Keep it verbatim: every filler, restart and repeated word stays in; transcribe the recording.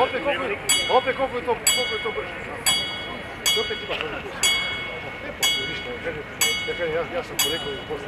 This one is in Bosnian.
Opet koliko je, opet koliko je to, koliko je to brže. Znači, opet imaš ono pusti. Ne postoji ništa, ja kažem, ja sam porekao i posle.